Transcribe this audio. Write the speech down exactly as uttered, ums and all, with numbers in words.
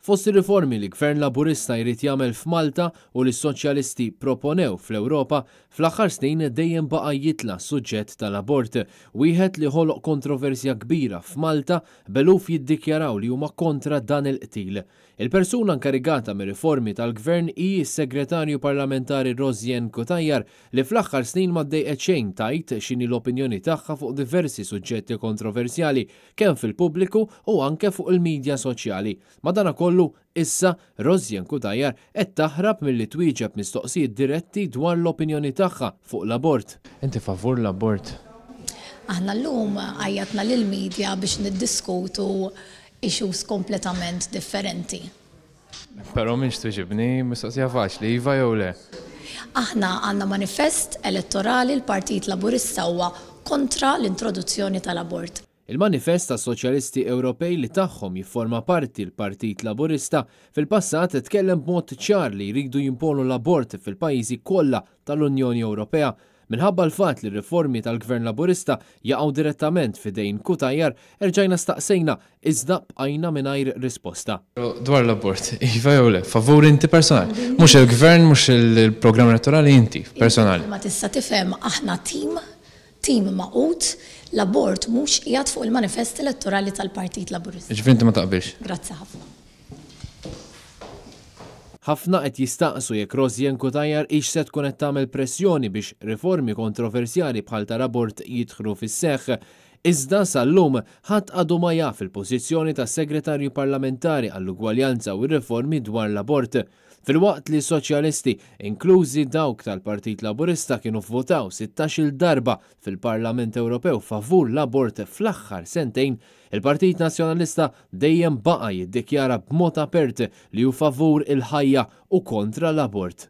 Fost ir-riformi li Gvern Laburista jrid jagħmel f'Malta u li s-Soċjalisti proponew fl-Ewropa, fl-aħħar snin dejjem baqa' jitla' suġġett tal-abort, wieħed li ħoloq kontroversja kbira f'Malta b'eluf jiddikjaraw li huma kontra dan il-qtil. Il-persuna inkarigata mir-riformi tal-Gvern hi s-Segretarju Parlamentari Rosianne Cutajar, li fl-aħħar snin ma ddejqet xejn tgħid x'inhi l-opinjoni tagħha fuq diversi suġġetti kontroversjali kemm fil-pubbliku u anke fuq il-midja soċjali. Madanakollu, issa Rosianne Cutajar qed taħrab milli twieġeb mistoqsijiet diretti dwar l-opinjoni tagħha fuq l-abort. Inti favur l-abort? Aħna llum għajjatna lill-media biex niddiskutu issues kompletament differenti. Però minx tweġibni mistoqsija faċli, iva jew le? Aħna għandna manifest elettorali, l-Partit Laburista huwa kontra l-introduzzjoni tal-abort. Il-manifest tas-Soċjalisti Ewropej, li tagħhom jifforma parti l-Partit Laburista, fil-passat tkellem b'mod ċar li jridu jimponu l-abort fil-pajjiżi kollha tal-Unjoni Ewropea. Minħabba l-fatt li riformi tal-Gvern Laburista jaqgħu direttament f'idejn Cutajar, erġajna staqsejna, iżda bqajna mingħajr risposta. Dwar l-abort, iva jew le, favur inti personali? Mhux il-Gvern, mhux il-programm elettorali, inti personali. Ma tista' tifhem, aħna tim, tim magħqud, l-abort mhux qiegħed fuq il-manifest elettorali tal-Partit Laburista. Ġifieri inti ma taqbilx? Grazzi ħafna. Ħafna qed jistaqsu jekk Rosianne Cutajar hix se tkun qed tagħmel pressjoni biex riformi kontroversjali bħal tal-abort jidħlu fis-seħħ. Iżda sal-lum ħadd għadu ma jaf il-pożizzjoni tas-Segretarju Parlamentari għall-Ugwaljanza u r-Riformi dwar l-abort. Filwaqt li soċjalisti, inklużi dawk tal-Partit Laburista, kienu vvotaw sittax-il darba fil-Parlament Ewropew favur l-abort fl-aħħar sentejn, il-Partit Nazzjonalista dejjem baqa' jiddikjara b'mod apert li hu favur il-ħajja u kontra l-abort.